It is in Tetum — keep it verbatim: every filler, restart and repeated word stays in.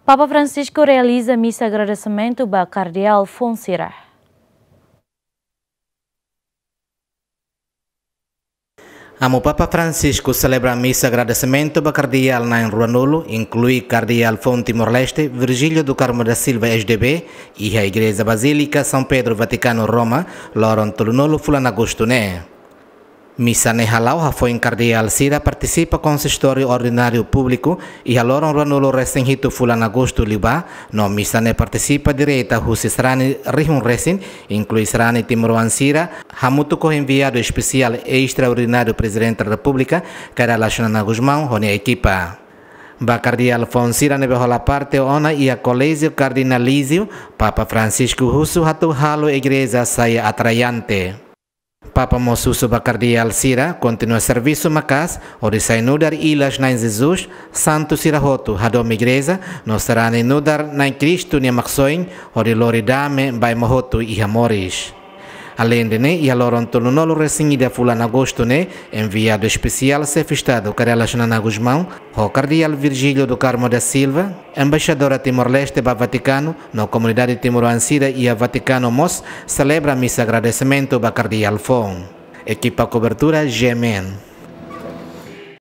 Papa Francisco realiza misa agradesimentu ba Kardeál foun sira. Amu Papa Francisco selebra misa agradesimentu ba kardeál na'in ruanulu, inklui kardeál foun Timor-Leste, Virgílio do Carmo da Silva, S D B, iha Igreja Basílika São Pedro, Vatikanu, Roma, loron tolunulu fulan Agostu ne'e. Misa ne'e hala'o hafoin kardeál sira partisipa konsistóriu ordináriu públiku iha loron ruanulu-resin-hitu fulan Agostu liubá, no misa ne'e partisipa direta husi sarani rihun resin, inklui sarani timoroan sira, hamutuk ho enviadu espesiál estraordináriu Prezidente Repúblika, Kay Rala Xanana Gusmão, ho nia ekipa. Ba kardeál foun sira ne'ebé hola parte ona iha Colégio Cardinalício, Papa Francisco husu atu halo igreja sai atraente. Papa mós husu ba kardeál sira kontinua servisu maka'as hodi sai nu'udar ilas Na'i Jesus, santu sira hotu, hadomi igreja no sarani nu'udar Na'i Kristu nia Maksoin, hodi lori dame ba ema hotu iha moris. Aleinde ne'e, iha loron tolunulu-resin-ida fulan Agostu ne'e, enviadu espesiál Xefe Estadu Kay Rala Xanana Gusmão, ho kardeál Virgílio do Carmo da Silva, embaixadora Timor-Leste ba Vatikanu, no komunidade timoroan sira iha Vatikanu mós selebra misa agradesimentu ba kardeál foun. Ekipa kobertura G M N.